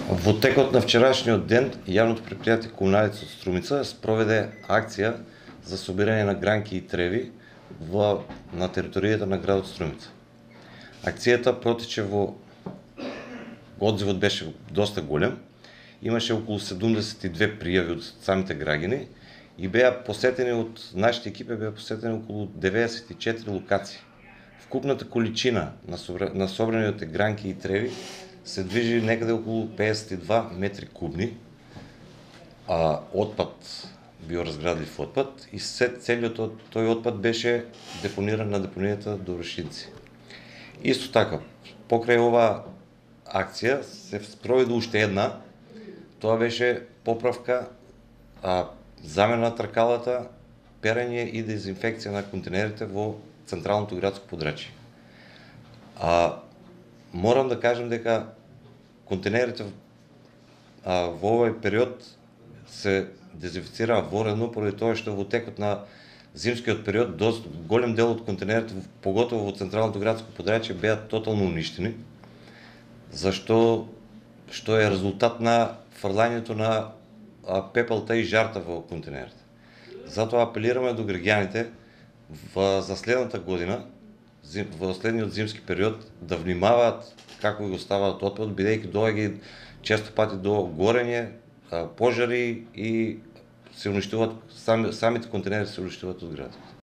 Во текот на вчерашниот ден, јавното претпријатие Комуналица од Струмица спроведе акција за собирање на гранки и треви на територијата на градот Струмица. Акцијата протече одзивот беше доста голем, имаше околу 72 пријави од самите граѓани и беа посетени од нашите екипи околу 94 локации. Вкупната количина на собраните гранки и треви се движи некаде околу 52 метри кубни отпад, биоразградлив отпад, и целиот тој отпад беше депониран на депонијата Доброшинци. Исто така, покрај оваа акција се спроведе уште една, тоа беше поправка, замена на тркалата, перење и дезинфекција на контенерите во централното градско подрачје. Морам да кажам дека контенерите во овој период се дезинфицираа воредно, поради тоа што во текот на зимскиот период голем дел од контенерите, поготово во централното градско подрачје, беа тотално уништени, што е резултат на фрлањето на пепелта и жарта во контенерите. Затоа апелираме до граѓаните за следната година, во следниот зимски период, да внимаваат како го ставаат отпадот, бидејќи доаѓа често пати до горење, пожари и се уништуваат, самите контенери се уништуваат од градот.